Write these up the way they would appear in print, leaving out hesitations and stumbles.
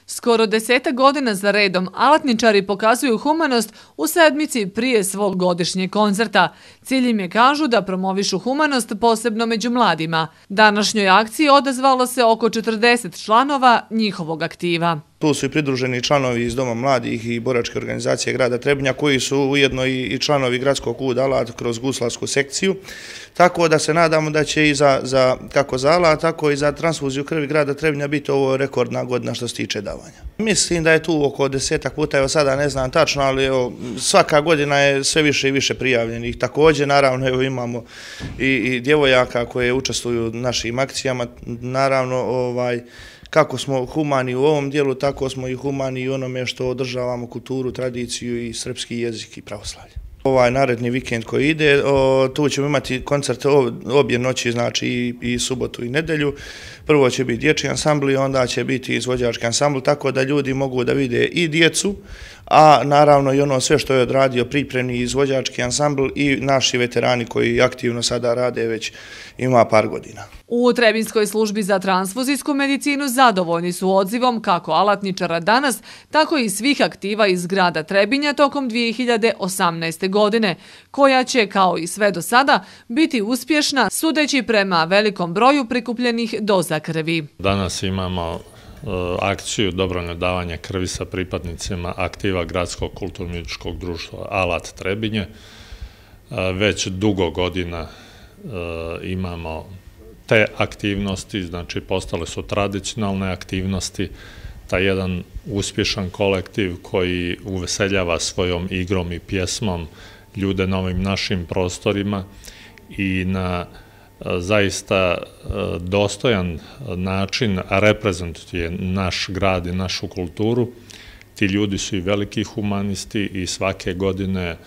Skoro 10 godina za redom alatničari pokazuju humanost u sedmici prije svog godišnjeg koncerta. Cilj im je, kažu, da promovišu humanost posebno među mladima. Današnjoj akciji odazvalo se oko 40 članova njihovog aktiva. Tu su i pridruženi članovi iz Doma mladih i boračke organizacije grada Trebinja, koji su ujedno i članovi gradskog KUD Alat kroz guslarsku sekciju. Tako da se nadamo da će i kako za Alat, tako i za transfuziju krvi grada Trebinja biti ovo rekordna godina što se tiče davanja. Mislim da je tu oko 10 puta, evo sada ne znam tačno, ali svaka godina je sve više i više prijavljenih. Također, naravno, imamo i djevojaka koje učestvuju u našim akcijama. Naravno, kako smo humani u ovom dijelu, tako smo i humani i onome što održavamo kulturu, tradiciju i srpski jezik i pravoslavlje. Ovaj naredni vikend koji ide, tu ćemo imati koncert obje noći, znači i subotu i nedelju. Prvo će biti dječji ansambl i onda će biti izvođački ansambl, tako da ljudi mogu da vide i djecu, a naravno i ono sve što je odradio pripremni izvođački ansambl i naši veterani koji aktivno sada rade već ima par godina. U Trebinskoj službi za transfuzijsku medicinu zadovoljni su odzivom kako alatničara danas, tako i svih aktiva iz grada Trebinja tokom 2018. godine, koja će, kao i sve do sada, biti uspješna sudeći prema velikom broju prikupljenih doza krvi. Danas imamo akciju dobrovoljno davanje krvi sa pripadnicima aktiva Gradskog kulturno-umjetničkog društva Alat Trebinje. Već dugo godina imamo te aktivnosti, znači postale su tradicionalne aktivnosti, taj jedan uspješan kolektiv koji uveseljava svojom igrom i pjesmom ljude na ovim našim prostorima i na zaista dostojan način reprezentuje naš grad i našu kulturu. Ti ljudi su i veliki humanisti i svake godine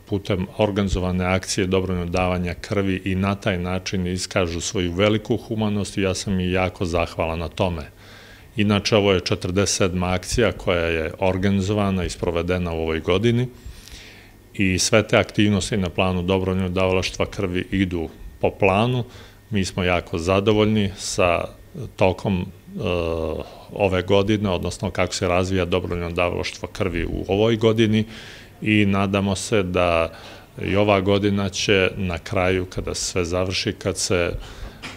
putem organizovane akcije dobrovoljnog davanja krvi i na taj način iskažu svoju veliku humanost i ja sam i jako zahvalan na tome. Inače, ovo je 47. akcija koja je organizovana i sprovedena u ovoj godini i sve te aktivnosti na planu dobrovoljnog davalaštva krvi idu po planu. Mi smo jako zadovoljni sa tokom ove godine, odnosno kako se razvija dobrovoljno davalaštvo krvi u ovoj godini i nadamo se da i ova godina će na kraju, kada se sve završi, kad se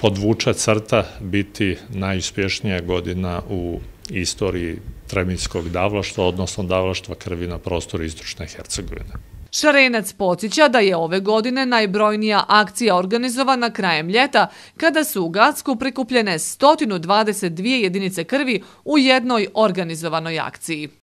podvuče crta, biti najuspješnija godina u istoriji trebinjskog davalaštva, odnosno davalaštva krvi na prostoru istočne Hercegovine. Šarenac podsjeća da je ove godine najbrojnija akcija organizovana krajem ljeta, kada su u Gacku prikupljene 122 jedinice krvi u jednoj organizovanoj akciji.